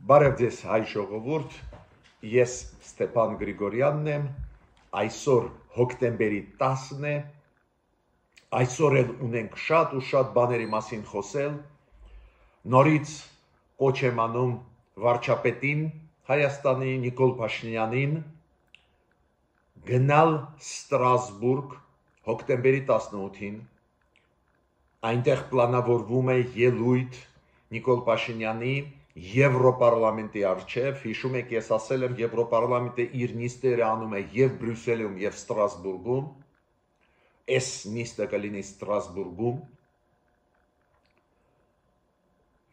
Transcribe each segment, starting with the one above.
Բարև ձեզ հայ ժողովուրդ, ես Ստեփան Գրիգորյանն եմ, այսօր հոկտեմբերի 10-ն է, այսօր էլ ունենք շատ ու շատ բաների մասին խոսել, նորից կոչ եմ անում վարչապետին Հայաստանի Նիկոլ Փաշինյանին գնալ Ստրասբուրգ հոկտեմբերի 18-ին, այնտեղ պլանավորվում է ելույթ Նիկոլ Փաշինյանի Եվրոպարլամենտի առջև, հիշում եք, ես ասել եմ, Եվրոպարլամենտը իր նիստերը անում է և Բրյուսելում, և Ստրասբուրգում, այս նիստը կլինի Ստրասբուրգում,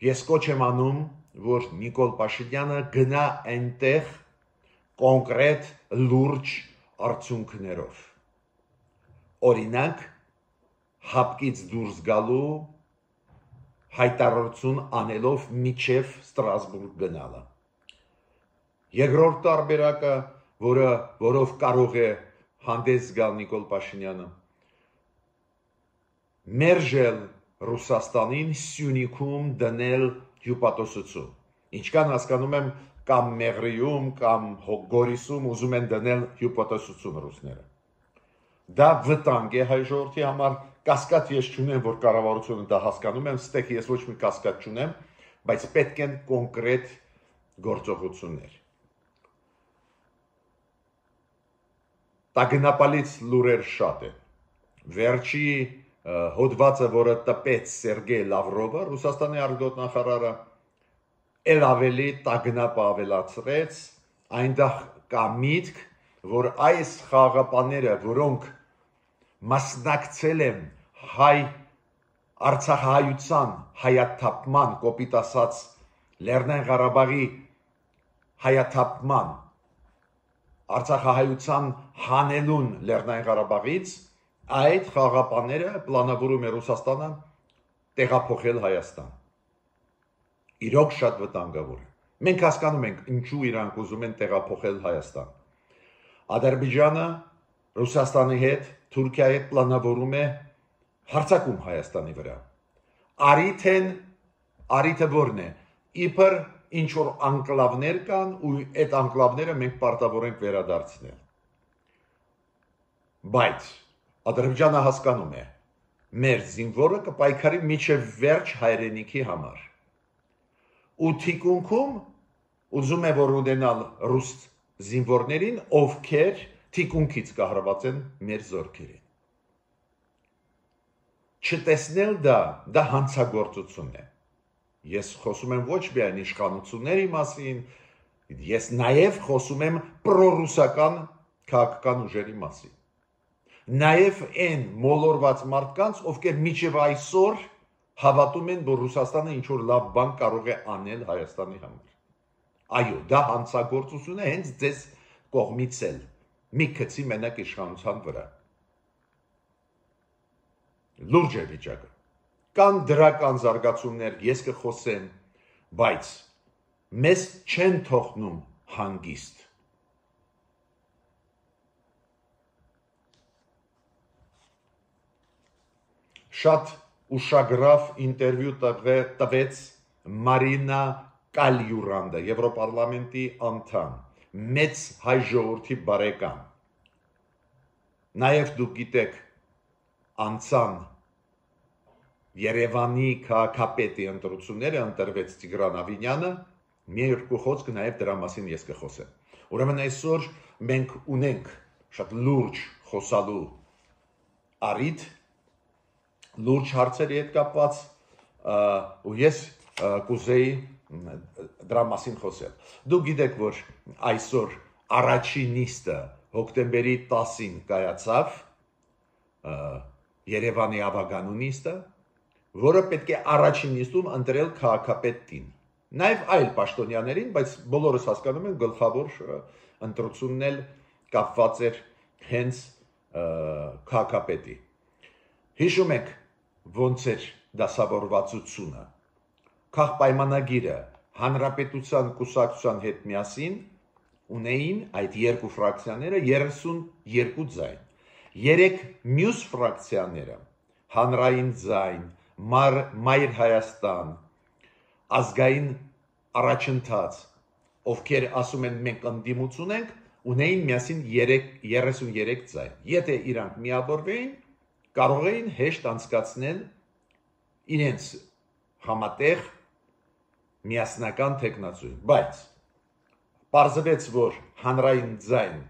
ես կոչ եմ անում, որ Նիկոլ Փաշինյանը գնա այնտեղ կոնկրետ լուրջ արդյունքներով, օրինակ, հապկից դուրս գալու հայտարարություն անելով միջև Ստրասբուրգ գնալը։ Երկրորդ տարբերակը, որով կարող է հանդես գալ Նիկոլ Փաշինյանը, մերժել Ռուսաստանին Սյունիքում դնել հյուպատոսություն։ Ինչքան հասկանում եմ, կամ Մեղրիում, կամ Գորիսում ուզում են դնել հյուպատոսություն ռուսները։ Դա վտանգ է հայ ժողովրդի համար, կասկած ես չունեմ, որ կառավարությունը դա հասկանում եմ, ստեղ ես ոչ մի կասկած չունեմ, բայց պետք են կոնկրետ գործողություններ։ Տագնապալից լուրեր շատ են։ Վերջի հոդվածը, որը տպեց Սերգեյ Լավրովը, Ռուսաստանի արտգործնախարարը, էլ ավելի տագնապ ավելացրեց, այնտեղ կա միտք, որ այս խաղաղապահները, որոնք մասնակցել են Արցախահայության հայաթափման, կոպիտ ասած Լեռնային Ղարաբաղի հայաթափման, Արցախահայության հանելուն Լեռնային Ղարաբաղից, այդ խաղաղապահները պլանավորում է Ռուսաստանը տեղափոխել Հայաստան։ Իրոք շատ վտանգավոր է։ Մենք հասկանում ենք, ինչու իրանք ուզում են տեղափոխել Հայաստան։ Ադրբեջանը Ռուսաստանի հետ, Թուրքիայի հետ պլանավորում է հարձակում Հայաստանի վրա։ Արիթը որն է, իբր ինչ-որ անկլավներ կան ու այդ անկլավները մենք պարտավոր ենք վերադարձնել։ Բայց Ադրբեջանը հասկանում է, մեր զինվորը կպայքարի մինչև վերջ հայրենիքի համար։ Ու թիկունքում ուզում է որ ունենալ ռուս զինվորներին, ովքեր թիկունքից կահրված են մեր զորքերին։ Չտեսնել դա հանցագործություն է։ Ես խոսում եմ ոչ միայն իշխանությունների մասին, ես նաև խոսում եմ պրոռուսական քաղաքական ուժերի մասին։ Նաև այն մոլորված մարդկանց, ովքեր մինչև այսօր հավատում են, որ Ռուսաստանը ինչ-որ լավ բան կարող է անել Հայաստանի համար։ Այո, դա հանցագործություն է հենց ձեզ կողմից էլ, մի քցի մենակ իշխանության վրա։ Լուրջ է վիճակը։ Կան դրական զարգացումներ, ես կխոսեմ, բայց մեզ չեն թողնում հանգիստ։ Շատ ուշագրավ ինտերվյու տվեց Մարինա Կալյուրանդը, Եվրոպարլամենտի անդամ, մեծ հայ ժողովրդի բարեկամ։ Նաև դուք գիտեք, անցան Երևանի քաղաքապետի ընտրությունները, ընտրվեց Տիգրան Ավինյանը, մի երկու խոսք նաև դրա մասին ես կխոսեմ։ Ուրեմն այսօր մենք ունենք շատ լուրջ խոսալու առիթ, լուրջ հարցերի հետ կապված, ու ես կուզեի դրա մասին խոսել։ Դուք գիտեք, որ այսօր առաջին նիստը հոկտեմբերի 10-ին կայացավ, Երևանի ավագանու նիստը, որը պետք է առաջին նիստում ընտրել քաղաքապետին, նաև այլ պաշտոնյաներին, բայց բոլորս հասկանում են գլխավոր ընտրությունն էլ կապված էր հենց քաղաքապետի։ Հիշում եք ոնց էր դասավորվածությունը, քաղաքպայմանագիրը Հանրապետության կուսակցության հետ միասին ունեին այդ երկու ֆրակցիաները 32 ձայն, 3 մյուս ֆրակցիաները Հանրային ձայն, Մայր Հայաստան, ազգային առաջընթաց, ովքեր ասում են մենք ընդդիմություն ենք, ունեին միասին 33 ձայն։ Եթե իրանք միավորվեին, կարող էին հեշտ անցկացնել իրենց համատեղ միասնական տեխնացույց, բայց պարզվեց, որ հանրային ձայն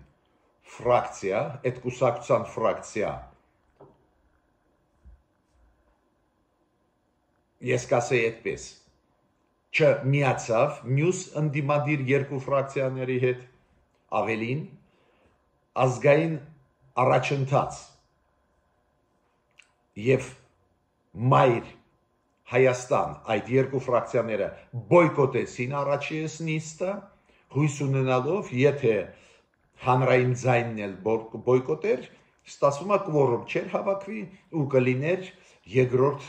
ֆրակցիա, այդ կուսակցության ֆրակցիա, ես կասեի այդպես, չմիացավ մյուս ընդդիմադիր երկու ֆրակցիաների հետ, ավելին ազգային առաջընթաց եւ մայր Հայաստան այդ երկու ֆրակցիաները բոյկոտեցին առաջին նիստը, հույս ունենալով, եթե հանրային ձայնն էլ բոյկոտեր, ստացվում է կվորում չէր հավաքվի ու կլիներ երկրորդ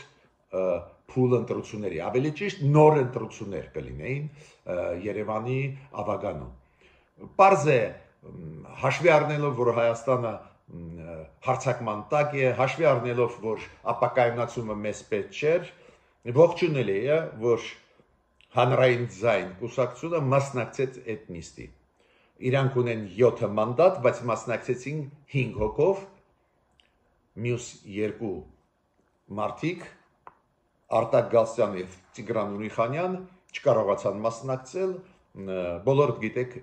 փուլ ընտրությունների, ավելի ճիշտ նոր ընտրություններ կլինեին Երևանի ավագանում։ Պարզ է, հաշվի առնելով, որ Հայաստանը հարցակման տակ է, հաշվի առնելով, որ ապակայունացումը մեզ պետք չէր, ողջունելի է, որ հանրային ձայն կուսակցությունը մասնակցեց այդ նիստի։ Իրանք ունեն 7 մանդատ, բայց մասնակցեցին 5 հոգով, մյուս երկու մարդիկ, Արտակ Գալստյան եւ Տիգրան Ուրիխանյան չկարողացան մասնակցել, բոլորդ գիտեք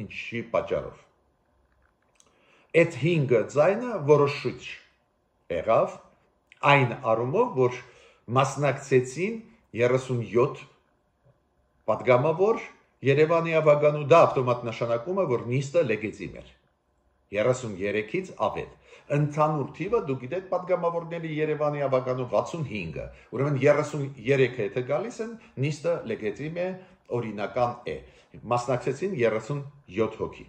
ինչի պատճառով։ Այդ 5 ձայնը որոշիչ եղավ այն առումով, որ մասնակցեցին 37 պատգամավոր Երևանի ավագանու, դա ավտոմատ նշանակում է, որ նիստը լեգիտիմ էր։ 33-ից ավել։ Ընդհանուր թիվը դուք գիտեք պատգամավորների Երևանի ավագանու 65-ը, ուրեմն 33 եթե գալիս են, նիստը լեգիտիմ է, օրինական է։ Մասնակցեցին 37 հոգի։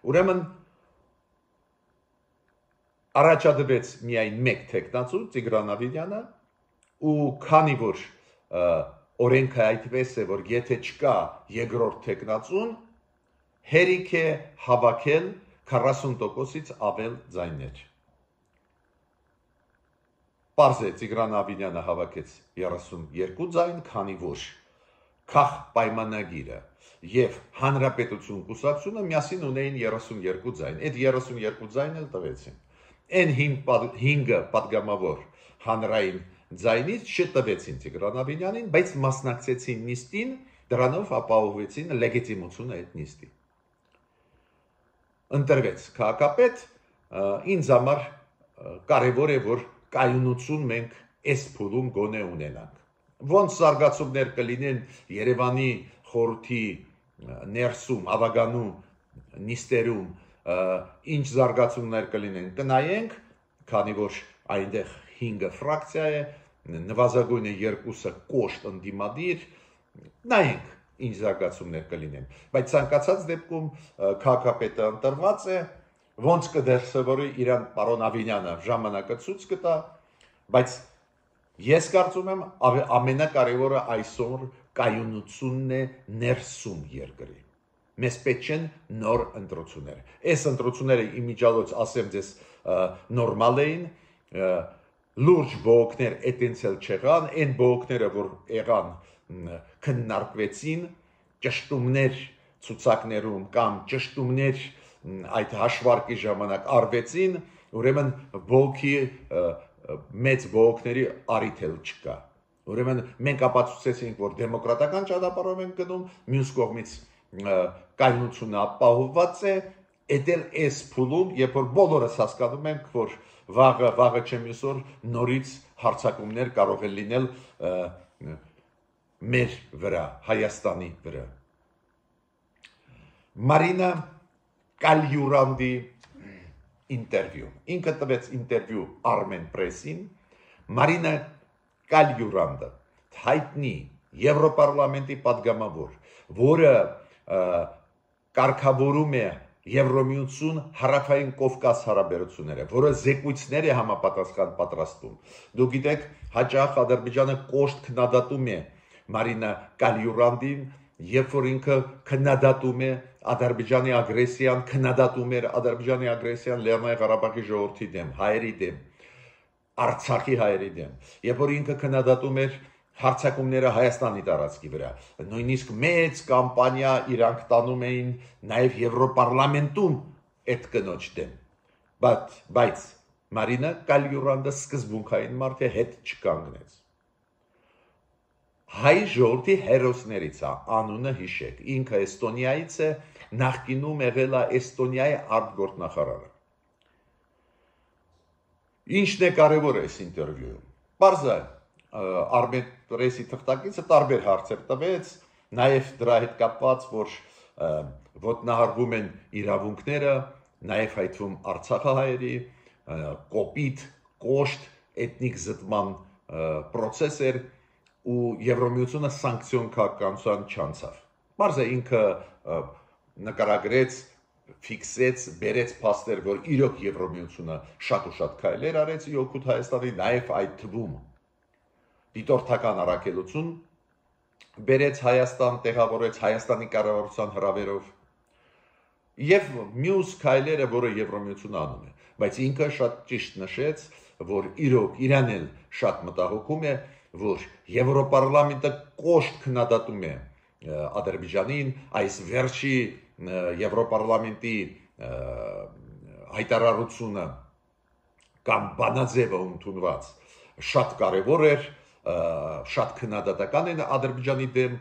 Ուրեմն առաջադրվեց միայն մեկ տեխնացու Տիգրան Ավիդյանը ու քանի որ օրենքը այդպես է, որ եթե չկա երկրորդ տեխնացուն, հերիք է հավաքել 40%-ից ավել ձայներ։ Պարզ է, Տիգրան Ավիդյանը հավաքեց 32 ձայն, քանի որ Քախ պայմանագիրը եւ Հանրապետություն կուսակցությունը միասին ունեին 32 ձայն։ Այդ 32 ձայնը տվեցին։ Այն 5 պատգամավոր հանրային ձայնից չտվեցին Տիգրան Ավիդյանին, բայց մասնակցեցին նիստին, դրանով ապահովեցին լեգիտիմությունը այդ նիստի։ Ընտրվեց քաղաքապետ, ինձ համար կարևոր է, որ կայունություն մենք այս փուլում գոնե ունենանք։ Ոնց զարգացումներ կլինեն Երևանի խորհրդի ներսում, ավագանում, նիստերում, ինչ զարգացումներ կլինեն, կնայենք, քանի որ այնտեղ 5 ֆրակցիա է, նվազագույնը 2-ը կոշտ ընդդիմադիր, նայենք ինչ զարգացումներ կլինեն, բայց ցանկացած դեպքում քաղաքապետը ընտրված է, ոնց կդրսևորի իրան պարոն Ավինյանը ժամանակը ցույց կտա, բայց ես կարծում եմ ամենակարևորը այսօր կայունությունն է ներսում երկրի։ Մեզ պետք չեն նոր ընտրություններ։ Այս ընտրությունները իմիջիալոց ասեմ ձեզ նորմալ էին, լուրջ բողոքներ այտենցել չեղան, այն բողոքները, որ եղան քննարկվեցին, ճշտումներ ցուցակներում կամ ճշտումներ այդ հաշվարկի ժամանակ արվեցին, ուրեմն բողոքի մեծ բողոքների առիթ էլ չկա։ Ուրեմն մենք ապացուցեցինք, որ դեմոկրատական ճանապարհով ենք գնում, մյուս կողմից կայունությունը ապահովված է, էդ էլ այս փուլում, երբ որ բոլորս հասկանում ենք, որ վաղը չեմ ուսոր նորից հարձակումներ կարող են լինել մեր վրա, Հայաստանի վրա։ Մարինա Կալյուրանդի ինտերվյու։ Ինքը տվեց ինտերվյու Armen Press-ին, Մարինա Կալյուրանդը հայտնի Եվրոպարլամենտի պատգամավոր, որը կարգավորում է Եվրոմիություն հարավային Կովկաս հարաբերությունները, որը զեկույցներ է համապատասխան պատրաստում։ Դուք գիտեք, հաճախ Ադրբեջանը կոշտ քննադատում է Մարինա Կալյուրանդին, երբ որ ինքը քննադատում է Ադրբեջանի ագրեսիան, քննադատում էր Ադրբեջանի ագրեսիան Լեռնային Ղարաբաղի ժողովրդի դեմ, հայերի դեմ, Արցախի հայերի դեմ, երբ որ ինքը քննադատում էր Հարցակումները Հայաստանի տարածքի վրա, նույնիսկ մեծ կամպանիա իրանք տանում էին նաև Եվրոպարլամենտում այդ կնոջ դեմ, բայց Մարինա Կալյուրանդը սկզբունքային մարդ է, հետ չկանգնեց։ Հայ ժողովրդի հերոսներից է, անունը հիշեք, ինքը Էստոնիայից է, նախկինում եղել է Էստոնիայի արտգործնախարարը։ Ինչն է կարևոր այս ինտերվյուում։ Պարզ է, Արմենպրեսի թղթակիցը տարբեր հարցեր տվեց, նաև դրա հետ կապված, որ ոտնահարվում են իրավունքները, նաև հայտվում Արցախահայերի, կոպիտ, կոշտ, էթնիկ զտման պրոցես էր ու Եվրամիությունը սանկցիոն քաղաքականության չանցավ։ Պարզ է ինքը նկարագրեց, ֆիքսեց, բերեց փաստեր, որ իրոք Եվրամիությունը շատ ու շատ քայլեր արեց օգուտ Հայաստանի, նաև այդ թվում դիտորդական առաքելություն բերեց Հայաստան, տեղավորեց Հայաստանի կառավարության հրավերով եւ մյուս քայլերը, որը Եվրամիությունը անում է, բայց ինքը շատ ճիշտ նշեց, որ իրոք իրան էլ շատ մտահոգում է, որ Եվրոպարլամենտը կոշտ քննադատում է Ադրբեջանին, այս վերջի Եվրոպարլամենտի հայտարարությունը կամ բանաձևը ընդունված շատ կարևոր էր, շատ քննադատական են Ադրբեջանի դեմ,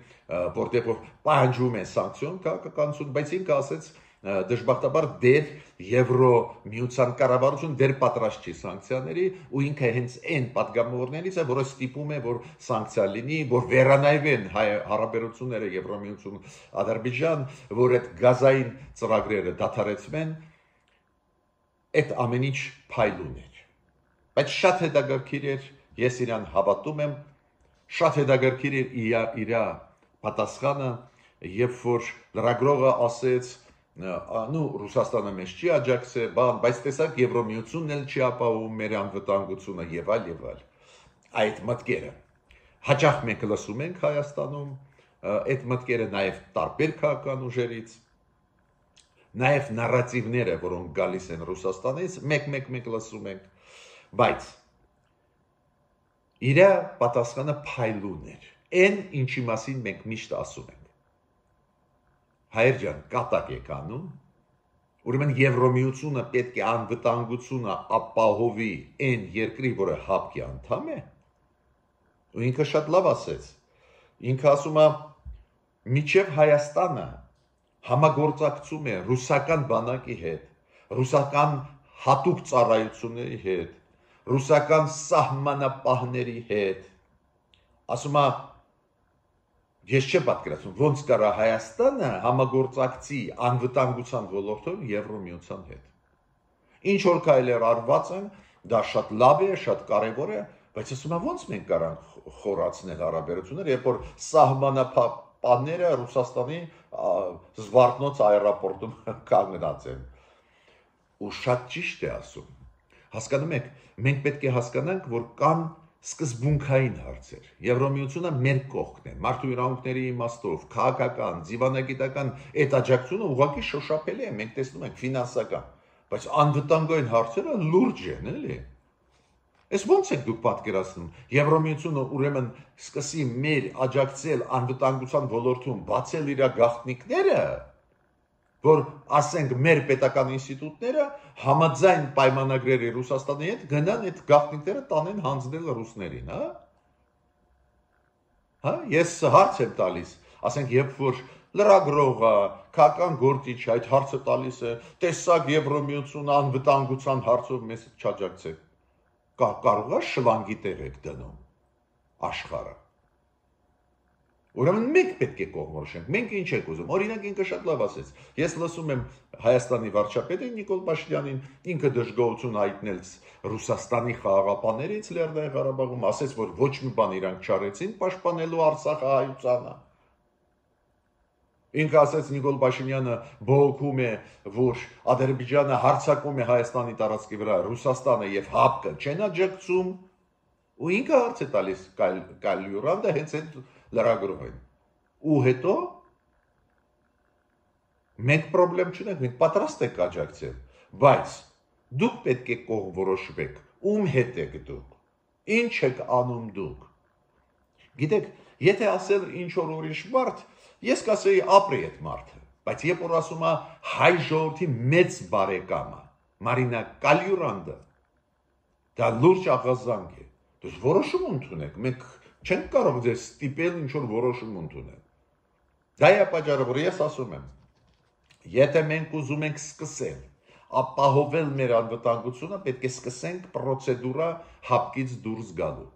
որտեղ պահանջում են սանկցիոն քաղաքականություն, բայց ինքը ասեց դժբախտաբար դեր Եվրոմիության կառավարություն դեր պատրաստ չի սանկցիաների ու ինքը հենց այն պատգամավորներից է, որը ստիպում է, որ սանկցիա լինի, որ վերանայվեն հարաբերությունները Եվրոմիություն Ադրբեջան, որ այդ գազային ծրագրերը դադարեցվեն, այդ ամեն ինչ փայլուն էր։ Բայց շատ հետաքրքիր էր, ես իրան հավատում եմ, շատ հետաքրքիր էր իր պատասխանը, երբ որ լրագրողը ասեց, Ռուսաստանը մեզ չի աջակցել, բայց տեսակ Եվրոմիությունն էլ չի ապահովում մեր անվտանգությունը եւ այլ։ Այդ մտքերը հաճախ մենք լսում ենք Հայաստանում, այդ մտքերը նաև տարբեր քաղաքական ուժերից, նաև նարատիվները, որոնք գալիս են Ռուսաստանից, մեկ լսում ենք, բայց իր պատասխանը փայլուն էր, այն ինչի մասին մենք միշտ ասում ենք։ Հայեր ջան, կատակ եք անում, ուրեմն Եվրոմիությունը պետք է անվտանգությունը ապահովի այն երկրի, որը ՀԱՊԿ-ի անդամ է, ու ինքը շատ լավ ասեց, ինքը ասում է, մինչև Հայաստանը համագործակցում է ռուսական բանակի հետ, ռուսական հատուկ ծառայությունների հետ, ռուսական սահմանապահների հետ, ասում է, ես չեմ պատկերացնում, ոնց կարա Հայաստանը համագործակցի անվտանգության ոլորտում Եվրոմիության հետ։ Ինչ որ քայլեր արված են, դա շատ լավ է, շատ կարևոր է, բայց ասում եմ, ոնց մենք կարանք խորացնել հարաբերությունները, երբ որ սահմանապահները Ռուսաստանի Զվարթնոց аэроպորտում կանգնած են։ Ու շատ ճիշտ է ասում։ Հասկանում եք, մենք պետք է հասկանանք, որ կան սկզբունքային հարցեր։ Եվրոմիությունը մեր կողքն է, մարդու իրավունքների իմաստով, քաղաքական, դիվանագիտական այդ աջակցությունը ուղղակի շոշափելի է, մենք տեսնում ենք ֆինանսական, բայց անվտանգային հարցերը լուրջ են, էլի։ Այս ոնց եք դուք պատկերացնում, Եվրոմիությունը ուրեմն սկսի մեր աջակցել անվտանգության ոլորտում, բացել իր գաղտնիքները, որ ասենք մեր պետական ինստիտուտները համաձայն պայմանագրերի Ռուսաստանի հետ գնան այդ գաղտնիքները տանեն հանձնել ռուսներին, հա? Ես հարց եմ տալիս, ասենք երբ որ լրագրողը, քաղաքական գործիչը այդ հարցը տալիս է, տեսակ Եվրոմիությունը անվտանգության հարցով մեզ չաջակցեք, կարող է շլանգի տեղ եք դնում աշխարհը։ Ուրեմն մենք պետք է կողմնորոշենք, մենք ինչ ենք ուզում, օրինակ ինքը շատ լավ ասեց, ես լսում եմ Հայաստանի վարչապետին Նիկոլ Փաշինյանին, ինքը դժգոհություն հայտնեց Ռուսաստանի խաղաղապահներից Լեռնային Ղարաբաղում, ասեց, որ ոչ մի բան իրանք չարեցին պաշտպանելու Արցախահայությանը։ Ինքը ասեց Նիկոլ Փաշինյանը բողոքում է, որ Ադրբեջանը հարձակում է Հայաստանի տարածքի վրա, Ռուսաստանը եւ ՀԱՊԿ-ը չեն աջակցում, ու ինքը հարց է տալիս Կալյուրանդը հենց այդ լրագրողին։ Ու հետո մենք խնդրեմ չունենք, մենք պատրաստ ենք աջակցել, բայց դուք պետք է կողմ որոշվեք, ում հետ եք դուք, ինչ եք անում դուք։ Գիտեք, եթե ասել ինչ որ ուրիշ մարդ, ես կասեի ապրի այդ մարդը, բայց երբ որ ասում է հայ ժողովրդի մեծ բարեկամը, Մարինա Կալյուրանդը, դա լուրջ աղազանք է։ Դուք որոշում ընդունեք, մենք չենք կարող ձեզ ստիպել ինչ որ որոշում ընդունել։ Դա է պատճառը, որ ես ասում եմ, եթե մենք ուզում ենք սկսել ապահովել մեր անվտանգությունը, պետք է սկսենք պրոցեդուրա հապկից դուրս գալու։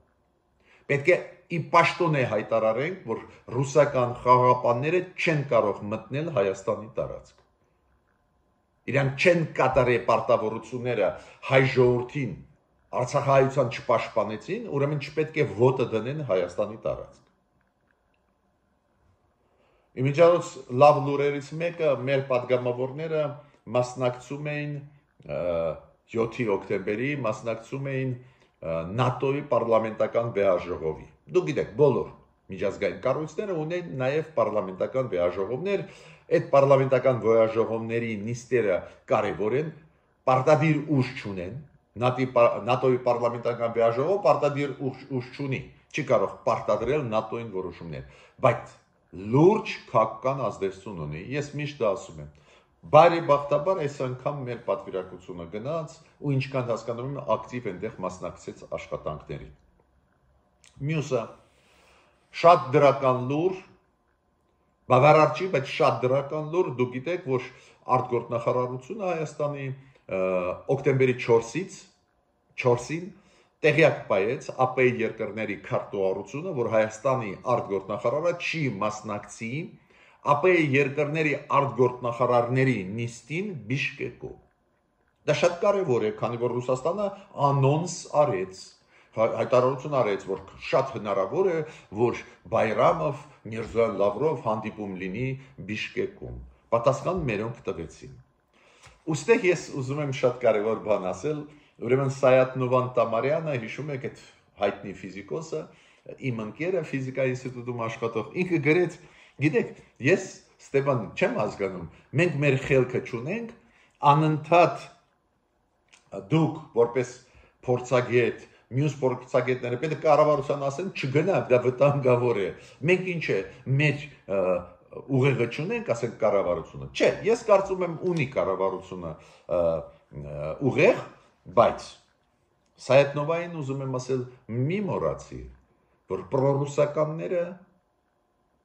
Պետք է ի պաշտոն է հայտարարենք, որ ռուսական խաղաղապանները չեն կարող մտնել Հայաստանի տարածք։ Իրանք չեն կատարել պարտավորությունները հայ ժողովրդին, Արցախահայության չպաշտպանեցին, ուրեմն չպետք է ոտը դնեն Հայաստանի տարածք։ Իմիջիայլոց լավ լուրերից մեկը մեր падգամավորները մասնակցում էին 7 օկտեմբերի մասնակցում էին ՆԱՏՕ-ի պարլամենտական վեհաժողովի։ Դուք գիտեք, բոլոր միջազգային կառույցները ունեն նաև պարլամենտական վեհաժողովներ, այդ պարլամենտական վեհաժողովների նիստերը կարևոր են, պարտադիր ուժ չունեն, ՆԱՏՕ-ի պարլամենտական վեհաժողովը պարտադիր ուժ չունի, չի կարող պարտադրել ՆԱՏՕ-ին որոշումներ, բայց լուրջ քաղաքական ազդեցություն ունի։ Ես միշտ ասում եմ, բարեբախտաբար այս անգամ մեր պատվիրակությունը գնաց ու ինչքան հասկանում եմ ակտիվ այնտեղ մասնակցեց աշխատանքներին։ Մյուսը շատ դրական լուր, բավարար չի, բայց շատ դրական լուր, դուք գիտեք, որ արտգործնախարարությունը Հայաստանի օկտեմբերի 4-ին տեղյակ պայեց ԱՊ երկրների քարտուղարությունը, որ Հայաստանի արտգործնախարարը չի մասնակցի ԱՊ երկրների արտգործնախարարների նիստին Բիշկեկում։ Դա շատ կարևոր է, քանի որ Ռուսաստանը անոնս արեց, հայտարարություն արեց, որ շատ հնարավոր է, որ Բայրամով, Միրզոյան Լավրով հանդիպում լինի Բիշկեկում։ Պատասխան մերոնք տվեցին։ Ուստեղ ես ուզում եմ շատ կարևոր բան ասել, ուրեմն Սայաթ-Նովան Տամարյանը, հիշում եք այդ հայտնի ֆիզիկոսը, իմ ընկերը ֆիզիկայի ինստիտուտում աշխատող, ինքը գրեց, գիտեք, ես Ստեփան չեմ հասկանում, մենք մեր խելքը չունենք, անընդհատ դուք որպես փորձագետ, մյուս փորձագետները պետք է կառավարության ասեն, չգնա, դա վտանգավոր է։ Մենք ինչ է, մեր ուղեղը չունենք, ասենք կառավարությունը։ Չէ, ես կարծում եմ ունի կառավարությունը ուղեղ, բայց Սայաթ-Նովային ուզում եմ ասել, մի մոռացի, որ պրոռուսականները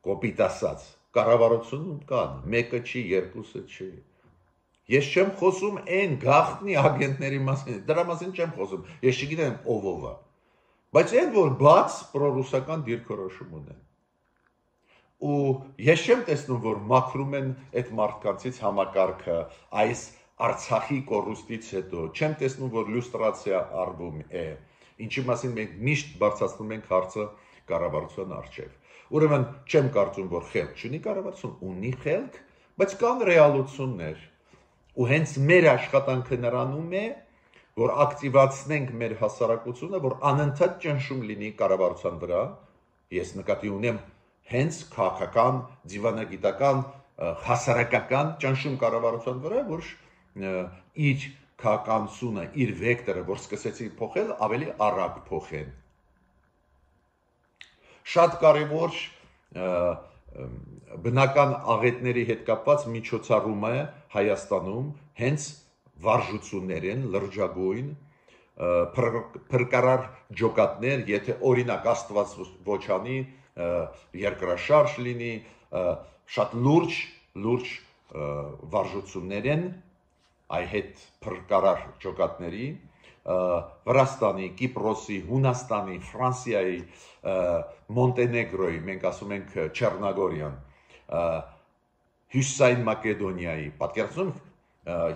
կոպիտ ասած կառավարությունում կան, մեկը չի, երկուսը չի։ Ես չեմ խոսում այն գաղտնի ագենտների մասին, դրա մասին չեմ խոսում, ես չգիտեմ ով է, բայց այն որ բաց պրոռուսական դիրքորոշում ունեն։ Ու ես չեմ տեսնում, որ մաքրում են այդ մարդկանցից համակարգը այս Արցախի կորուստից հետո, չեմ տեսնում, որ լյուստրացիա արվում է, ինչի մասին մենք միշտ բարձրացնում ենք հարցը կառավարության առջև։ Ուրեմն չեմ կարծում, որ խելք չունի կառավարություն, ունի խելք, բայց կան ռեալություններ։ Ու հենց մեր աշխատանքը նրանում է, որ ակտիվացնենք մեր հասարակությունը, որ անընդհատ ճնշում լինի կառավարության վրա, ես նկատի ունեմ հենց քաղաքական, դիվանագիտական, հասարակական ճնշում կառավարության վրա, որ իր քաղաքականությունը, իր վեկտորը, որ սկսեցի փոխել, ավելի արագ փոխեն։ Շատ կարևոր բնական աղետների հետ կապված միջոցառում է Հայաստանում հենց վարժություններն լրջագույն փրկարար ջոկատներ, եթե օրինակ Աստված ոչանի երկրաշարժ լինի, շատ լուրջ վարժություններ են այ հետ փրկարար ջոկատների Վրաստանի, Կիպրոսի, Հունաստանի, Ֆրանսիայի, Մոնտենեգրոյի, մենք ասում ենք Չեռնագորիան, Հյուսիսային Մակեդոնիայի, պատկերացնում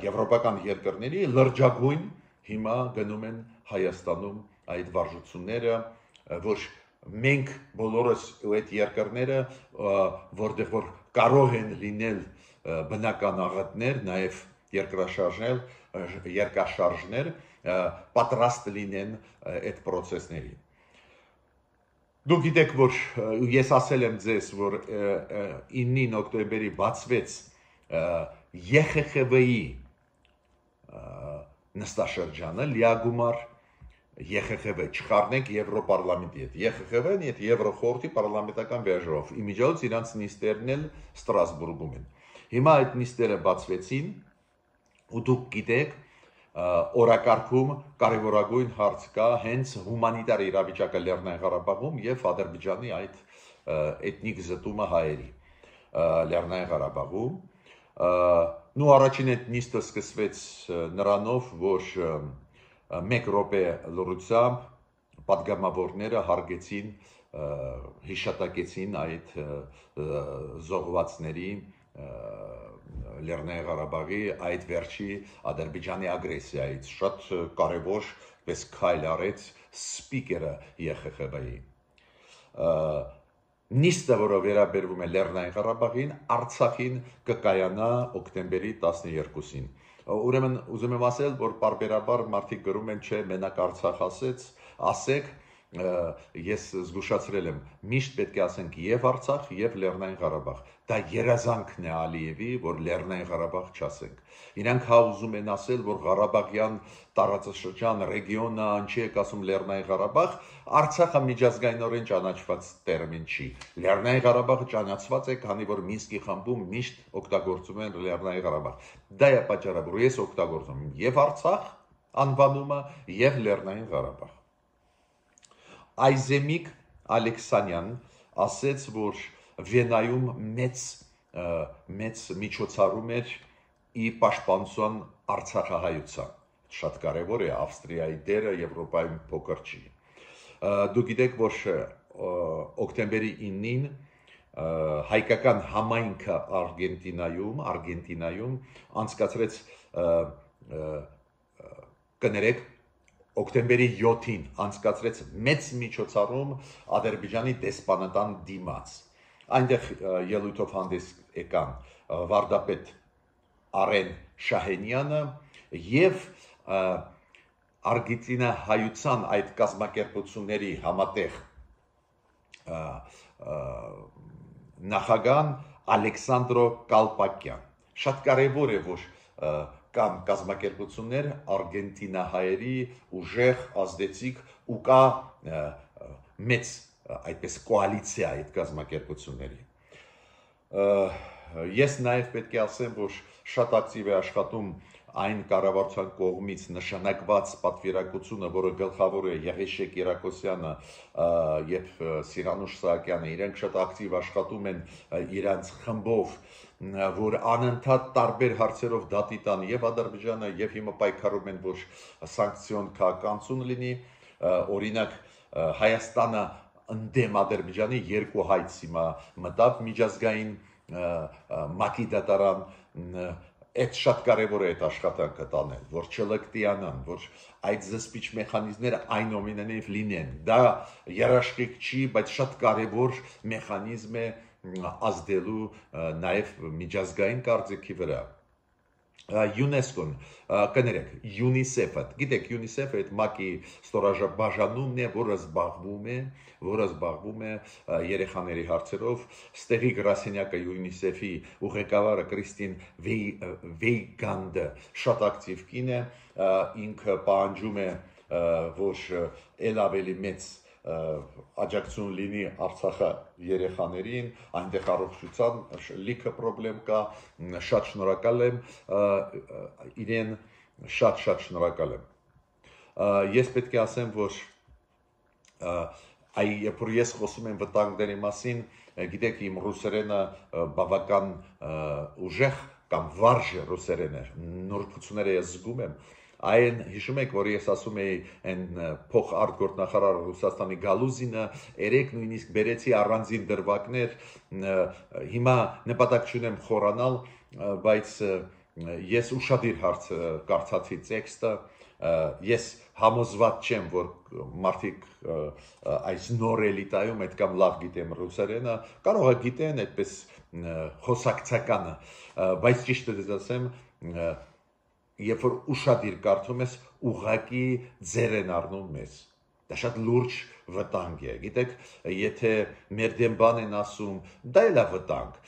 եվրոպական երկրների լրջագույն հիմա գնում են Հայաստանում այդ վարժությունները, որ մենք բոլորս այդ երկրները, որտեղ որ կարող են լինել բնական աղետներ, նաև երկրաշարժներ, պատրաստ լինեն այդ process-ների։ Դուք գիտեք, որ ես ասել եմ ձեզ, որ 9 օկտեմբերի բացվեց ԵԽԽՎ-ի նստաշրջանը, լիագումար ԵԽԽՎ չխառնենք Եվրոպարլամենտի հետ։ ԵԽԽՎ-ն այդ Եվրոխորհրդի պարլամենտական վեժով իմիջիայլոց իրանց նիստերն էլ Ստրասբուրգում են։ Հիմա այդ նիստերը բացվեցին ու դուք գիտեք օրակարգում կարևորագույն հարց կա հենց հումանիտար իրավիճակը Լեռնային Ղարաբաղում եւ Ադրբեջանի այդ էթնիկ զտումը հայերի Լեռնային Ղարաբաղում։ Նու առաջին այդ նիստը սկսվեց նրանով, որ 1 րոպե լրությամբ պատգամավորները հարգեցին հիշատակեցին այդ զոհվածների Լեռնային Ղարաբաղի այդ վերջի Ադրբեջանի ագրեսիայից շատ կարևոր պես քայլ արեց սպիկերը ԵԽԽՎ-ի նիստը, որը վերաբերվում է Լեռնային Ղարաբաղին, Արցախին կկայանա օկտեմբերի 12-ին։ Ուրեմն ուզում եմ ասել, որ պարբերաբար մարդիկ գրում են, չէ, մենակ Արցախ ասեք, ես զգուշացրել եմ, միշտ պետք է ասենք եւ Արցախ եւ Լեռնային Ղարաբաղ։ Դա երազանքն է Ալիևի, որ Լեռնային Ղարաբաղ չասենք։ Իրանք ուզում են ասել, որ Ղարաբաղյան տարածաշրջան ռեգիոնը ինչի է ասում Լեռնային Ղարաբաղ, Արցախը միջազգայինորեն ճանաչված տերմին չի։ Լեռնային Ղարաբաղը ճանաչված է, քանի որ Մինսկի խմբում միշտ օգտագործում են Լեռնային Ղարաբաղ։ Դա է պատճառը, որ ես օգտագործում եմ եւ Արցախ անվանումը եւ Լեռնային Ղարաբաղ։ Այզեմիկ Ալեքսանյան ասեց, որ Վենայում մեծ միջոցառում էր ի պաշտպանության Արցախահայության։ Շատ կարևոր է Ավստրիայի դերը Եվրոպայում փոքր չի։ Դուք գիտեք, որ օկտեմբերի 9-ին հայկական համայնքը Արգենտինայում անցկացրեց կներեք օկտեմբերի 7-ին անցկացրեց մեծ միջոցառում Ադրբեջանի դեսպանատան դիմաց։ Այնտեղ ելույթով հանդես եկան վարդապետ Արեն Շահենյանը եւ Արգենտինահայության այդ կազմակերպությունների համատեղ նախագահ Ալեքսանդրո Կալպակյան։ Շատ կարևոր է, որ կան կազմակերպություններ արգենտինահայերի ուժեղ ազդեցիկ ու կա մեծ այդպես կոալիցիա այդ կազմակերպությունների։ Ես նաև պետք է ասեմ, որ շատ ակտիվ է աշխատում այն կառավարության կողմից նշանակված պատվիրակությունը, որը գլխավոր է Եղիշեկ Երակոսյանը եւ Սիրանուշ Սահակյանը, իրենք շատ ակտիվ աշխատում են իրանց խմբով, որ անընդհատ տարբեր հարցերով դատի տան եւ Ադրբեջանը եւ հիմա պայքարում են, որ սանկցիոն քաղաքականություն լինի, օրինակ Հայաստանը ընդդեմ Ադրբեջանի 2 հայց հիմա մտավ միջազգային ՄԱԿ-ի դատարան Այդ շատ կարևոր է այդ աշխատանքը տանել, որ չլկտիանան, որ այդ զսպիչ մեխանիզմները այնուամենայնիվ լինեն։ Դա երաշխիք չի, բայց շատ կարևոր մեխանիզմ է ազդելու նաև միջազգային կարծիքի վրա։ ՅՈՒՆԵՍԿՕ-ն, կներեք, ՅՈՒՆԻՍԵՖ-ը, գիտեք, ՅՈՒՆԻՍԵՖ-ը այդ ՄԱԿ-ի ստորաբաժանումն է, որը զբաղվում է երեխաների հարցերով, Ստեվի գրասենյակը ՅՈՒՆԻՍԵՖ-ի ուղեկավարը Կրիստին Վեյգանդը շատ ակտիվ կին է, ինքը պահանջում է, որ ել ավելի մեծ աջակցություն լինի Արցախի երեխաներին, այնտեղ առողջության լիքը խնդրեմ կա, շատ շնորհակալ եմ իրեն, շատ շնորհակալ եմ։ Ես պետք է ասեմ, որ երբ որ ես խոսում եմ վտանգների մասին, գիտեք, իմ ռուսերենը բավական ուժեղ կամ վարժ ռուսերեն է, նորությունները ես զգում եմ, այն հիշում եք, որ ես ասում էի այն փոխարտգործնախարար Ռուսաստանի Գալուզինը, երեք նույնիսկ բերեցի առանձին դրվագներ, հիմա նպատակ չունեմ խորանալ, բայց ես ուշադիր հարց կարդացի տեքստը, ես համոզված չեմ, որ մարդիկ այս նոր էլիտայում այդքան լավ գիտեմ ռուսերենը, կարող է գիտեն այդպես խոսակցականը, բայց ճիշտ է ասեմ, երբ որ ուշադիր կարդում ես, ուղղակի ձեր են առնում մեզ։ Դա շատ լուրջ վտանգ է, գիտեք, եթե մեր դեմ բան են ասում, դա էլ է վտանգ,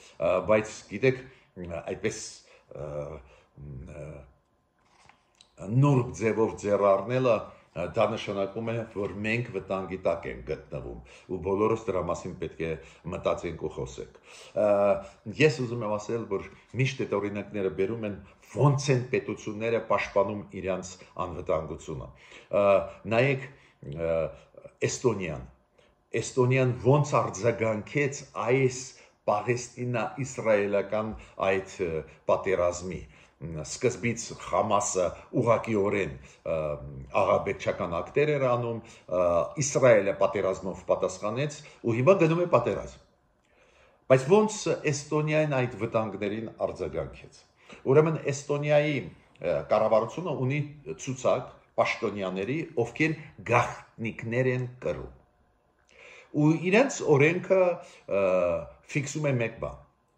բայց գիտեք, այդպես նուրբ ձևով ձեռ առնելը դա նշանակում է, որ մենք վտանգի տակ ենք գտնվում ու բոլորս դրա մասին պետք է մտածենք ու խոսենք։ Ես ուզում եմ ասել, որ միշտ այդ օրինակները բերում են ոնց են պետությունները պաշտպանում իրենց անվտանգությունը։ Նայեք Էստոնիան ոնց արձագանքեց այս Պաղեստինա-իսրայելական այդ պատերազմի։ Սկզբից Խամասը ուղղակիորեն աղաբեկչական ակտեր էր անում, Իսրայելը պատերազմով պատասխանեց ու հիմա գնում է պատերազմ։ Բայց ոնց Էստոնիան այդ վտանգներին արձագանքեց։ Ուրեմն Էստոնիայի կառավարությունը ունի ցուցակ պաշտոնյաների, ովքեր գաղտնիքներ են կրում։ Ու իրենց օրենքը ֆիքսում է մեկ բան։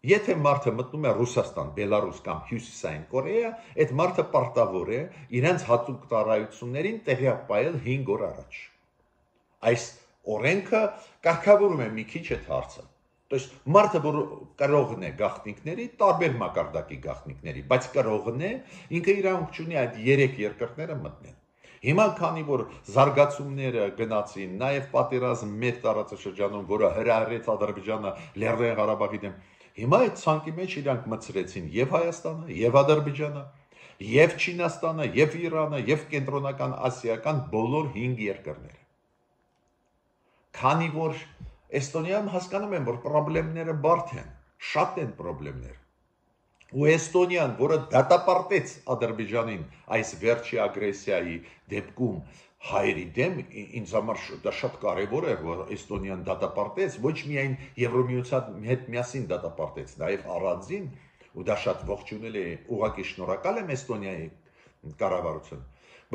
Եթե մարդը մտնում է Ռուսաստան, Բելարուս կամ Հյուսիսային Կորեա, այդ մարդը պարտավոր է իրենց հատուկ ծառայություններին տեղյակ պահել 5 օր առաջ։ Այս օրենքը կարգավորում է մի քիչ այդ հարցը։ Դες մարդը, որ կրողն է գաղտնիքների, տարբեր մակարդակի գաղտնիքների, բայց կրողն է, ինքը իրավունք չունի այդ 3 երկրները մտնել։ Հիմա քանի որ զարգացումները գնացին, նաև պատերազմ մեծ տարածաշրջանում, որը հրահրեց Ադրբեջանը Լեռնային Ղարաբաղի դեմ, հիմա այդ ցանկի մեջ իրանք մտցրեցին եւ Հայաստանը, եւ Ադրբեջանը, եւ Չինաստանը, եւ Իրանը, եւ կենտրոնական ասիական բոլոր 5 երկրները։ Քանի որ Էստոնիայում հասկանում են, որ խնդիրները բարդ են, շատ են խնդիրներ։ Ու Էստոնիան, որը դատապարտեց Ադրբեջանին այս վերջի ագրեսիայի դեպքում հայերի դեմ, ինձ համար դա շատ կարևոր է, որ Էստոնիան դատապարտեց, ոչ միայն Եվրոմիության հետ միասին դատապարտեց, նաև առանձին, ու դա շատ ողջունել է, ուղղակի շնորհակալ եմ Էստոնիայի կառավարության,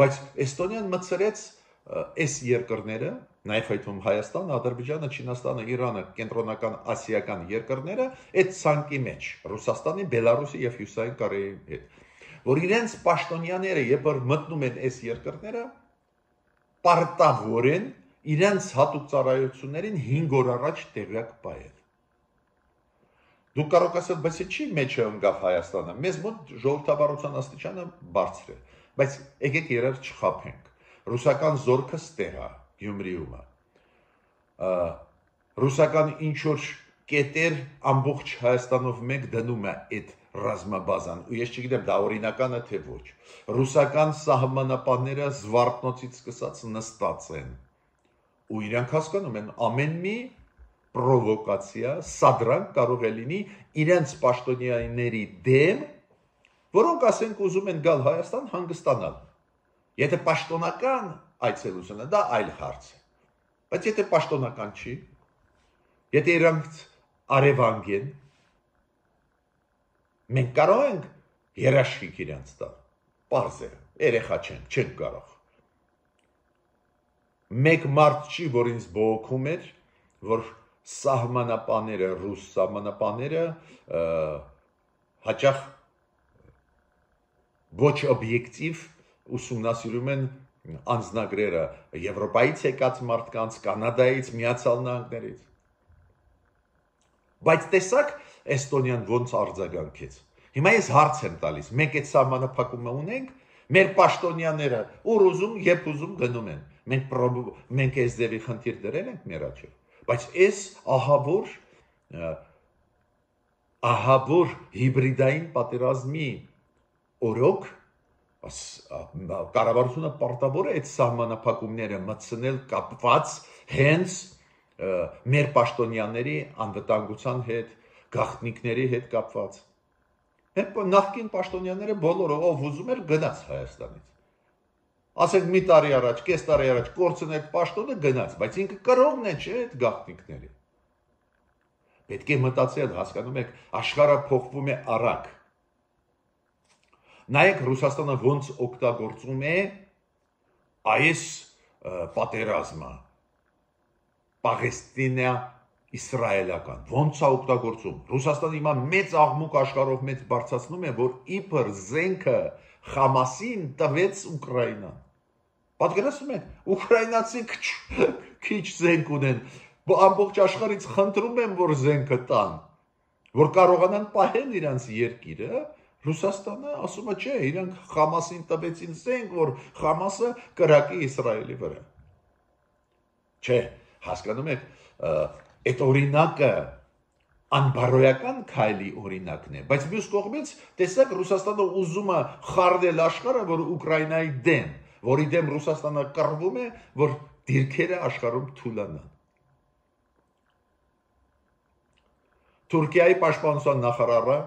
բայց Էստոնիան մտցրեց այս երկրները, նաև այդում Հայաստանը, Ադրբեջանը, Չինաստանը, Իրանը, կենտրոնական ասիական երկրները այդ ցանկի մեջ, Ռուսաստանի, Բելարուսի եւ Հյուսիսային Կորեայի հետ, որ իրենց պաշտոնյաները երբ որ մտնում են այս երկրները, պարտավոր են իրենց հատուկ ծառայություններին 5 օր առաջ տեղյակ պահել։ Դուք կարող ասել, բայց չի մեջը ընկավ Հայաստանը, մեզ մոտ ժողովրդավարության աստիճանը բարձր է, բայց եկեք իրար չխաբենք։ Ռուսական զորքը ստեղ է Գյումրիում։ Ռուսական ինչ-որ կետեր ամբողջ Հայաստանով մեկ դնում է այդ ռազմաբազան, ու ես չգիտեմ դա օրինականը թե ոչ։ Ռուսական սահմանապանները Զվարթնոցից սկսած նստած են։ Ու իրանք հասկանում են ամեն մի պրովոկացիա, սադրանք կարող է լինի իրենց պաշտոնյաների դեմ, որոնք ասենք ուզում են գալ Հայաստան հանգստանալ։ Եթե պաշտոնական այցելությունը, դա այլ հարց է, բայց եթե պաշտոնական չի, եթե իրանք արևանգ են, մենք կարող ենք երաշխիք իրանց տալ, պարզ է, երեխա չենք կարող։ Մեկ մարդ չի, որ ինձ բողոքում էր, որ սահմանապաները, ռուս սահմանապաները հաճախ ոչ օբյեկտիվ ուսումնասիրում են անձնագրերը Եվրոպայից եկած մարդկանց, Կանադայից, Միացյալ Նահանգներից։ Բայց տեսակ Էստոնիան ոնց արձագանքեց։ Հիմա ես հարց եմ տալիս, մենք այդ սահմանափակումը ունենք, մեր պաշտոնյաները ուր ուզում, երբ ուզում գնում են։ Մենք այս ձևի խնդիր դրել ենք մեր աչքով, բայց այս ահավոր հիբրիդային պատերազմի օրոք կառավարությունը պարտավոր է այդ սահմանափակումները մտցնել կապված հենց մեր պաշտոնյաների անվտանգության հետ, գաղտնիքների հետ կապված։ Նախկին պաշտոնյաները բոլորը ով ուզում էր գնաց Հայաստանից։ Ասենք մի տարի առաջ, կես տարի առաջ կորցնել պաշտոնը գնաց, բայց ինքը կրողն է, չէ, այդ գաղտնիքների։ Պետք է մտածել, հասկանում եք, աշխարհը փոխվում է արագ։ Նայեք Ռուսաստանը ոնց օգտագործում է այս պատերազմը, Պաղեստինա-իսրայելական, ոնց է օգտագործում։ Ռուսաստանը հիմա մեծ աղմուկ աշխարհով մեծ բարձրացնում է, որ իբր զենքը Խամասին տվեց Ուկրաինան։ Պատկերացնում եք, ուկրաինացիք քիչ զենք ունեն, ամբողջ աշխարհից խնդրում են, որ զենքը տան, որ կարողանան պահել իրենց երկիրը, Ռուսաստանը ասում է, չէ, իրանք Խամասին տվեցին զենք, որ Խամասը կրակի Իսրայելի վրա։ Չէ, հասկանում եք, այդ օրինակը անբարոյական քայլի օրինակն է, բայց մյուս կողմից տեսակ Ռուսաստանը ուզում է խառնել աշխարհը, որ Ուկրաինայի դեմ, որի դեմ Ռուսաստանը կռվում է, որ դիրքերը աշխարհում թուլանան։ Թուրքիայի պաշտպանության նախարարը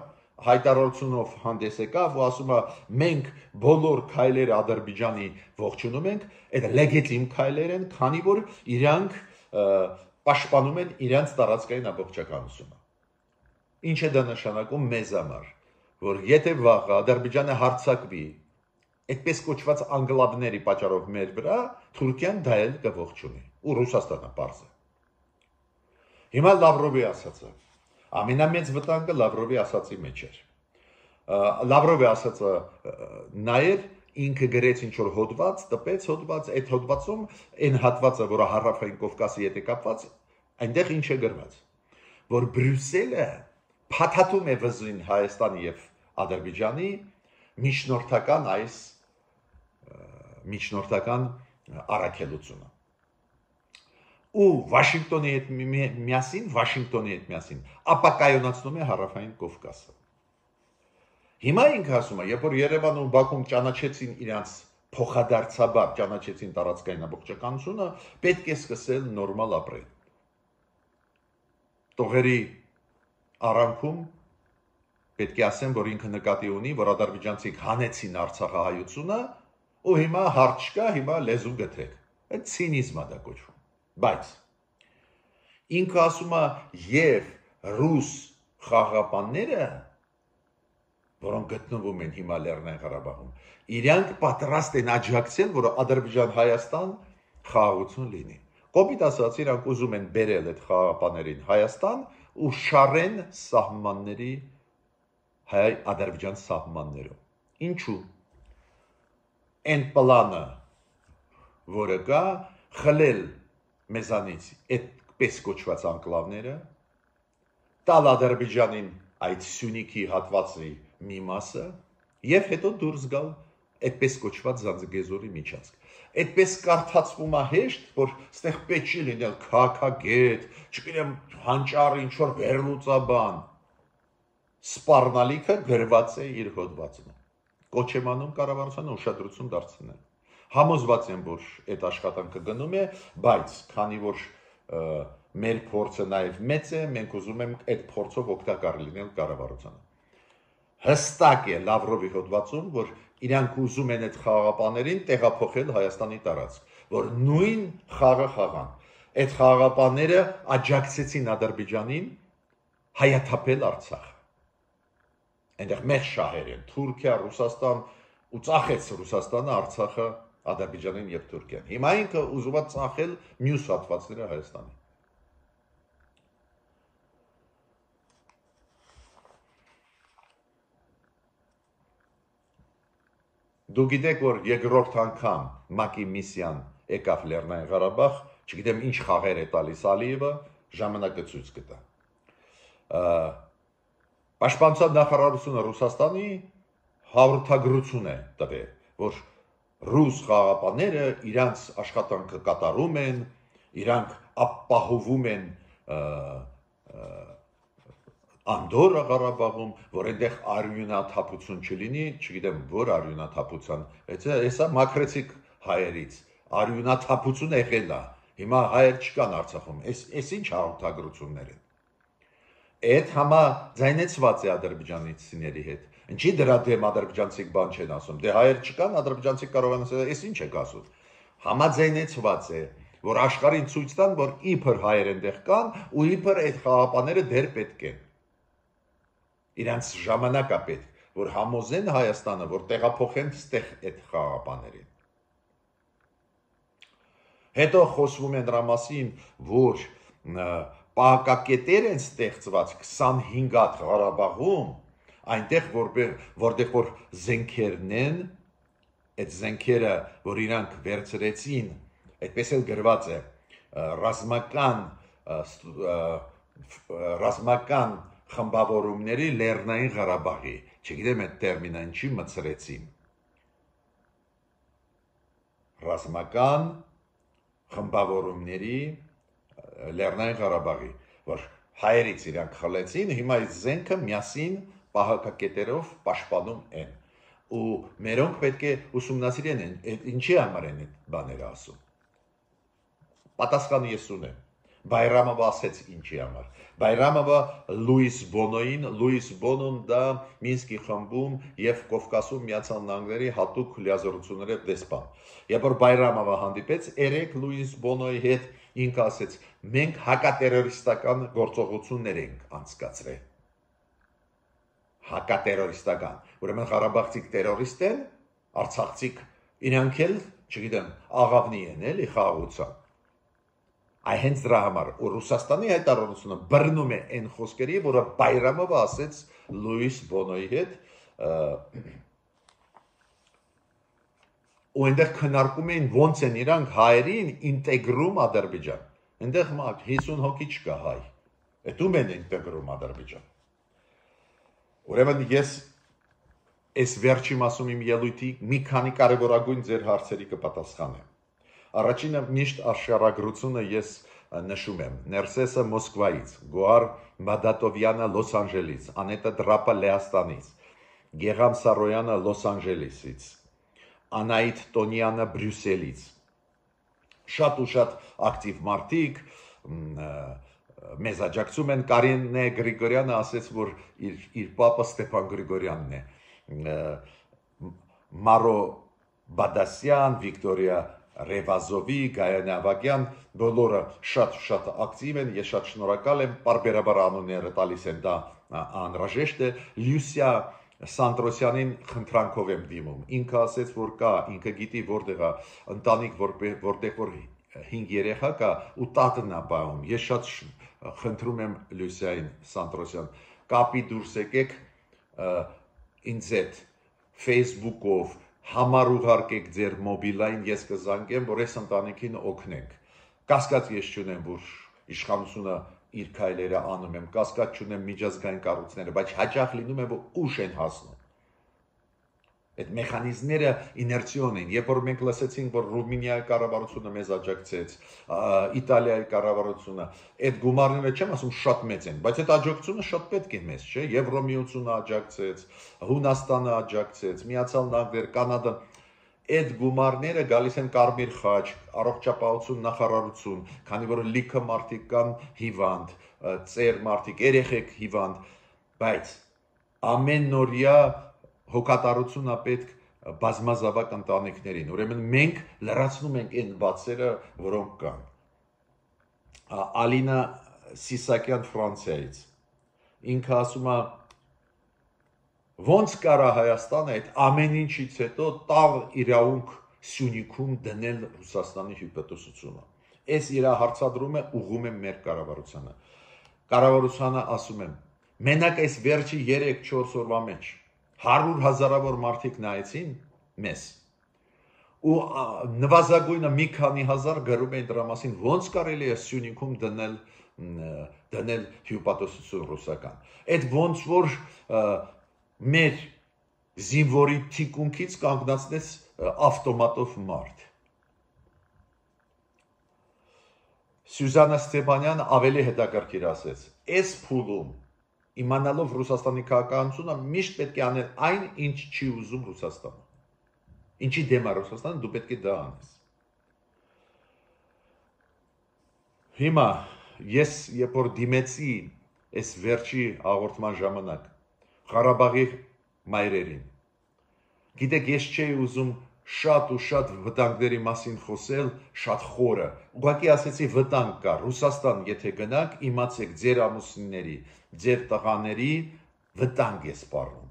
հայտարարությունով հանդես եկավ ու ասում է մենք բոլոր քայլերը Ադրբեջանի ողջունում ենք, այդ լեգիտիմ քայլեր են, քանի որ իրանք պաշտպանում են իրանց տարածքային ամբողջականությունը։ Ինչ է դա նշանակում մեզ համար, որ եթե վաղը Ադրբեջանը հարձակվի այդպես կոչված անգլաբների պատճառով մեր վրա, Թուրքիան դա էլ կողջունի ու Ռուսաստանը պարզ է։ Հիմա Լավրովի ասածը ամենամեծ վտանգը Լավրովի ասածի մեջ էր։ Լավրովի ասածը նայր ինքը գրեց ինչ որ հոդված, տպեց հոդված, այդ հոդվածում այն հատվածը, որը Հարավային Կովկասի հետ է կապված, այնտեղ ինչ է գրված, որ Բրյուսելը փաթաթում է վզին Հայաստանի եւ Ադրբեջանի միջնորդական առաքելությունը։ Ու Վաշինգտոնի հետ միասին ապակայունացնում է Հարավային Կովկասը։ Հիմա ինքը ասում է, երբ որ Երևանում ու Բաքվում ճանաչեցին իրանց փոխադարձաբար ճանաչեցին տարածքային ամբողջականությունը, պետք է սկսել նորմալ ապրել։ Տողերի արանքում պետք է ասեմ, որ ինքը նկատի ունի, որ ադրբեջանցիք հանեցին Արցախահայությունը, ու հիմա հարց չկա, հիմա լեզու գթեք։ Այդ ցինիզմ է դա կոչվում։ Բայց ինքը ասում է եւ ռուս խաղաղապանները, որոնք գտնվում են հիմա Լեռնային Ղարաբաղում, իրանք պատրաստ են աջակցել, որ Ադրբեջան-Հայաստան խաղաղություն լինի։ Կոպիտ ասած, իրանք ուզում են բերել այդ խաղաղապաներին Հայաստան ու շարեն սահմանների հայ-ադրբեջան սահմաններում։ Ինչու։ Այն պլանը, որը կա, խլել մեզանից այդպես կոչված անկլավները, տալ Ադրբեջանին այդ Սյունիքի հատվածի մի մասը եւ հետո դուրս գալ այդպես կոչված Զանձգեզուրի միջանցք։ Այդպես կարդացվում է հեշտ, որ ստեղ պետք չի լինել քաղաքագետ, չգիտեմ, հանճար ինչ որ վերլուծաբան։ Սպառնալիքը գրված է իր հոդվածում։ Կոչ եմ անում կառավարությանը ուշադրություն դարձնել։ Համոզված եմ, որ այդ աշխատանքը գնում է, բայց քանի որ մեր փորձը նաև մեծ է, մենք ուզում ենք այդ փորձով օգտակար լինել կառավարությանը։ Հստակ է Լավրովի հոդվածում, որ իրանք ուզում են այդ խաղաղապաներին տեղափոխել Հայաստանի տարածք, որ նույն խաղը խաղան։ Այդ խաղաղապաները աջակցեցին Ադրբեջանին հայաթափել Արցախը։ Այնտեղ մեծ շահեր են, Թուրքիա, Ռուսաստան ու ծախեց Ռուսաստանը Արցախը Ադրբեջանին եւ Թուրքիան։ Հիմա ինքը ուզում է ծախել մյուս հատվածները Հայաստանի։ Դու գիտեք, որ երկրորդ անգամ ՄԱԿ-ի միսիան եկավ Լեռնային Ղարաբաղ, չգիտեմ ինչ խաղեր է տալիս Ալիևը, ժամանակը ցույց կտա։ Պաշտպանության նախարարությունը Ռուսաստանի հաղորդագրություն է տվել, որ ռուս խաղաղապանները իրանց աշխատանքը կատարում են, իրանք ապահովում են Անդորը Ղարաբաղում, որ այնտեղ արյունաթափություն չլինի, չգիտեմ, որ արյունաթափության, հեսա մակրեցիկ հայերից, արյունաթափություն եղել է, հիմա հայեր չկան Արցախում, այս ինչ հաղորդագրություններ են։ Այդ համաձայնեցված է ադրբեջանցիների հետ։ Ինչի դրա դեմ ադրբեջանցիք բան չեն ասում։ Դե հայեր չկան, ադրբեջանցիք կարող են ասել, այս ինչ եք ասում։ Համաձայնեցված է, որ աշխարհին ցույց տան, որ իբր հայեր այնտեղ կան ու իբր այդ խաղաղապաները դեռ պետք են։ Իրանց ժամանակա պետք, որ համոզեն Հայաստանը, որ տեղափոխեն ստեղ այդ խաղաղապաներին։ Հետո խոսվում է դրա մասին, որ պահակակետեր են ստեղծված 25 հատ Ղարաբաղում, այնտեղ որտեղ որ զենքերն են, այդ զենքերը, որ իրանք վերցրեցին, այդպես էլ գրված է, ռազմական խմբավորումների Լեռնային Ղարաբաղի, չգիտեմ այդ տերմինը ինչի մցրեցին, ռազմական խմբավորումների Լեռնային Ղարաբաղի, որ հայերից իրանք խլեցին, հիմա այս զենքը միասին պահակակետերով պաշտպանում են, ու մերոնք պետք է ուսումնասիրեն ինչի համար են այդ բաները ասում, պատասխանը ես ունեմ, Բայրամովը ասեց ինչի համար, Բայրամովը Լուիս Բոնոին, Լուիս Բոնոն դա Մինսկի խմբում և Կովկասում Միացյալ Նահանգների հատուկ լիազորությունների դեսպան, երբ որ Բայրամովը հանդիպեց երեք Լուիս Բոնոյի հետ, ինքը ասեց, մենք հակատերորիստական գործողություններ ենք անցկացրել, հակատերորիստական, ուրեմն Ղարաբաղցիք տերորիստ են, արցախցիք իրանք էլ, չգիտեմ, աղավնի են էլի խաղաղության, այ հենց դրա համար, ու Ռուսաստանի հայտարարությունը բռնում է այն խոսքերի, որը Բայրամովը ասեց Լուիս Բոնոյի հետ, ու այնտեղ քննարկում էին ոնց են իրանք հայերին ինտեգրում Ադրբեջան, այնտեղ 50 հոգի չկա հայ, էդում են ինտեգրում Ադրբեջան, ուրեմն ես այս վերջի մասում իմ ելույթի մի քանի կարևորագույն ձեր հարցերի կպատասխանեմ, առաջինը միշտ աշխարհագրությունը ես նշում եմ, Ներսեսը Մոսկվայից, Գոհար Մադատովյանը Լոս Անջելեսից, Անետա Դրապը Լեհաստանից, Գեգամ Սարոյանը Լոս Անջելեսից, Անահիտ Տոնյանը Բրյուսելից, շատ ու շատ ակտիվ մարդիկ, մեզ աջակցում են, Կարինե Գրիգորյանը ասեց, որ իր պապը Ստեփան Գրիգորյանն է, Մարո Բադասյան, Վիկտորիա Ռևազովի, Գայանե Ավագյան, բոլորը շատ ակտիվ են, ես շատ շնորհակալ եմ, պարբերաբար անունները տալիս են, դա անհրաժեշտ է, Լյուսիա Սանտրոսյանին խնդրանքով եմ դիմում, ինքը ասեց, որ կա, ինքը գիտի որտեղ է ընտանիք, որտեղ որ 5 երեխա կա ու տատն է բաղում, ես շատ խնդրում եմ Լյուսիային Սանտրոսյան, կապի դուրս եկեք ինձ հետ Facebook-ով համար ուղարկեք ձեր մոբիլային, ես կզանգեմ, որ այս ընտանիքին օգնենք, կասկած ես չունեմ, որ իշխանությունը իր քայլերը անում եմ, կասկած չունեմ միջազգային կառույցները, բայց հաճախ լինում է, որ ուշ են հասնում, այդ մեխանիզմները իներցիոն են, երբ որ մենք լսեցինք, որ Ռումինիայի կառավարությունը մեզ աջակցեց, Իտալիայի կառավարությունը, այդ գումարները չեմ ասում շատ մեծ են, բայց այդ աջակցությունը շատ պետք է մեզ, չէ, Եվրոմիությունը աջակցեց, Հունաստանը աջակցեց, Միացյալ Նահանգներ, Կանադա, այդ գումարները գալիս են Կարմիր խաչ, առողջապահություն նախարարություն, քանի որ լիքը մարդիկ կան հիվանդ, ծեր մարդիկ, երեխեք հիվանդ, բայց ամենօրյա հոգատարությունն է պետք բազմազավակ ընտանիքներին, ուրեմն մենք լրացնում ենք այն բացերը, որոնք կան, Ալինա Սիսակյան Ֆրանսիայից, ինքը ասում է, ոնց կարա Հայաստանը այդ ամեն ինչից հետո տաղ իրավունք Սյունիքում դնել Ռուսաստանի հյուպատոսությունը, այս իր հարցադրումը ուղղում եմ մեր կառավարությանը, կառավարությանը ասում եմ, մենակ այս վերջի 3-4 օրվա մեջ 100,000-ավոր մարդիկ նայեցին մեզ ու նվազագույնը մի քանի հազար գրում էին դրա մասին ոնց կարելի է Սյունիքում դնել հյուպատոսություն ռուսական, այդ ոնց որ մեր զինվորի թիկունքից կանգնացնեց ավտոմատով մարդ, Սյուզանա Ստեփանյանը ավելի հետաքրքիր ասեց, այս փուլում իմանալով Ռուսաստանի քաղաքականությունը միշտ պետք է անել այն, ինչ չի ուզում Ռուսաստանը, ինչի դեմ է Ռուսաստանը, դու պետք է դա անես, հիմա ես երբ որ դիմեցի այս վերջի հաղորդման ժամանակ Ղարաբաղի մայրերին, գիտեք ես չէի ուզում շատ ու շատ վտանգների մասին խոսել, շատ խորը, ուղղակի ասեցի վտանգ կա, Ռուսաստան եթե գնաք, իմացեք ձեր ամուսինների, ձեր տղաների վտանգ է սպառնում,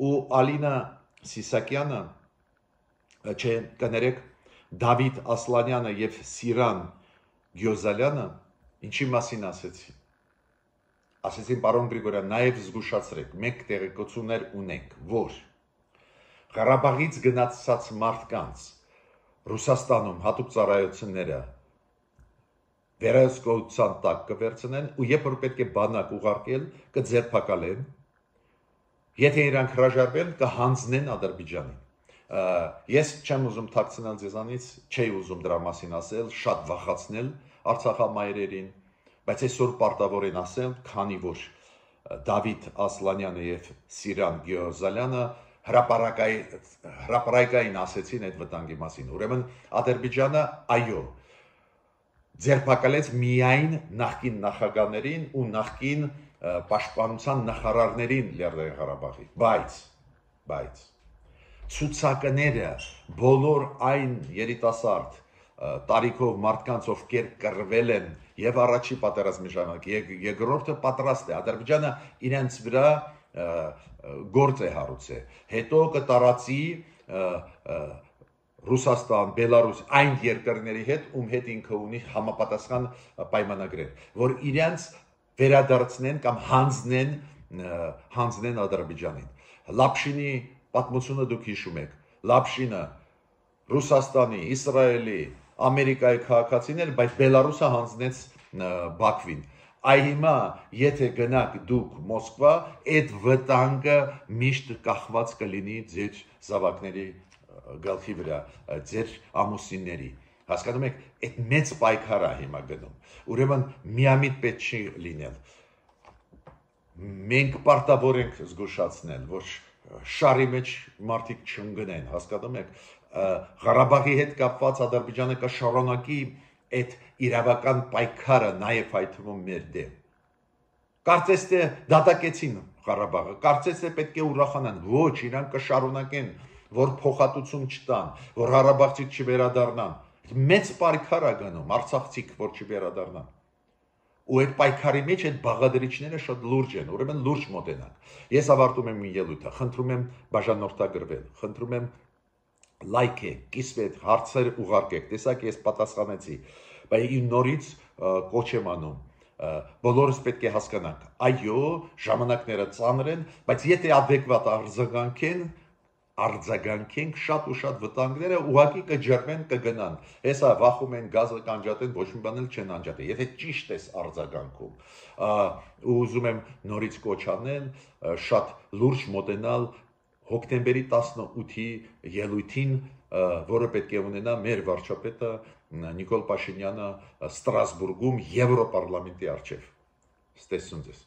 ու Ալինա Սիսակյանը, չէ, կներեք, Դավիթ Ասլանյանը և Սիրան Գյոզալյանը ինչի մասին ասեցին, ասեցին պարոն Գրիգորյան, նաև զգուշացրեք, մենք տեղեկություններ ունենք, որ Ղարաբաղից գնացած մարդկանց Ռուսաստանում հատուկ ծառայությունները վերահսկողության տակ կվերցնեն ու երբ որ պետք է բանակ ուղարկել կձերբակալեն, եթե իրանք հրաժարվեն կհանձնեն Ադրբեջանին։ Ես չեմ ուզում թաքցնել ձեզանից, չէի ուզում դրա մասին ասել, շատ վախացնել արցախամայրերին, բայց այսօր պարտավոր են ասել, քանի որ Դավիթ Ասլանյանը եւ Սիրան Գեորգալյանը հրապարակային ասեցին այդ վտանգի մասին։ Ուրեմն Ադրբեջանը այո ձերբակալեց միայն նախկին նախագահներին ու նախկին պաշտպանության նախարարներին Լեռնային Ղարաբաղի, բայց ցուցակները բոլոր այն երիտասարդ տարիքով մարդկանց ովքեր կռվել են եւ առաջի պատերազմի ժամանակ երկրորդը պատրաստ է Ադրբեջանը իրենց վրա գործ է հարուցել հետո կտարածի Ռուսաստան, Բելարուս այն երկրների հետ ում հետ ինքը ունի համապատասխան պայմանագրեր, որ իրենց վերադարձնեն կամ հանձնեն Ադրբեջանին։ Լապշինի պատմությունը դուք հիշում եք, Լապշինը Ռուսաստանի, Իսրայելի, Ամերիկայի քաղաքացիներ, բայց Բելարուսը հանձնեց Բաքվին։ Այ հիմա եթե գնաք դուք Մոսկվա, այդ վտանգը միշտ կախված կլինի ձեր զավակների գլխի վրա, ձեր ամուսինների։ Հասկանում եք, այդ մեծ պայքար է հիմա գնում։ Ուրեմն միամիտ պետք չի լինել։ Մենք պարտավոր ենք զգուշացնել, որ շարի մեջ մարդիկ չընկնեն, հասկանում եք, Ղարաբաղի հետ կապված Ադրբեջանը կշարունակի այդ իրավական պայքարը նաև այդ թվում մեր դեմ։ Կարծես թե դատակեցին Ղարաբաղը, կարծես թե պետք է ուրախանան, ոչ, իրանք կշարունակեն, որ փոխհատուցում չտան, որ ղարաբաղցիք չվերադառնան։ Մեծ պայքար է գնում, արցախցիք որ չվերադառնան։ Ու այդ պայքարի մեջ այդ բաղադրիչները շատ լուրջ են, ուրեմն լուրջ մոտենանք։ Ես ավարտում եմ իմ ելույթը, խնդրում եմ բաժանորդագրվել, խնդրում եմ լայքեք, կիսվեք, հարցեր ուղարկեք, տեսակ ես պատասխանեցի, բայց իմ նորից կոչ եմ անում, բոլորս պետք է հասկանանք, այո, ժամանակները ծանր են, բայց եթե adekvat արձագանքենք շատ ու շատ վտանգները ուղղակի կջրվեն, կգնան։ Հեսա վախում են գազը կանջատեն, ոչ մի բան էլ չեն անջատել։ Եթե ճիշտ ես արձագանքում, ու ուզում եմ նորից կոչ անել, շատ լուրջ մոտենալ հոկտեմբերի 18-ի ելույթին, որը պետք է ունենա մեր վարչապետը Նիկոլ Փաշինյանը Ստրասբուրգում Եվրոպարլամենտի առջև։ Ստեսուն ձեզ։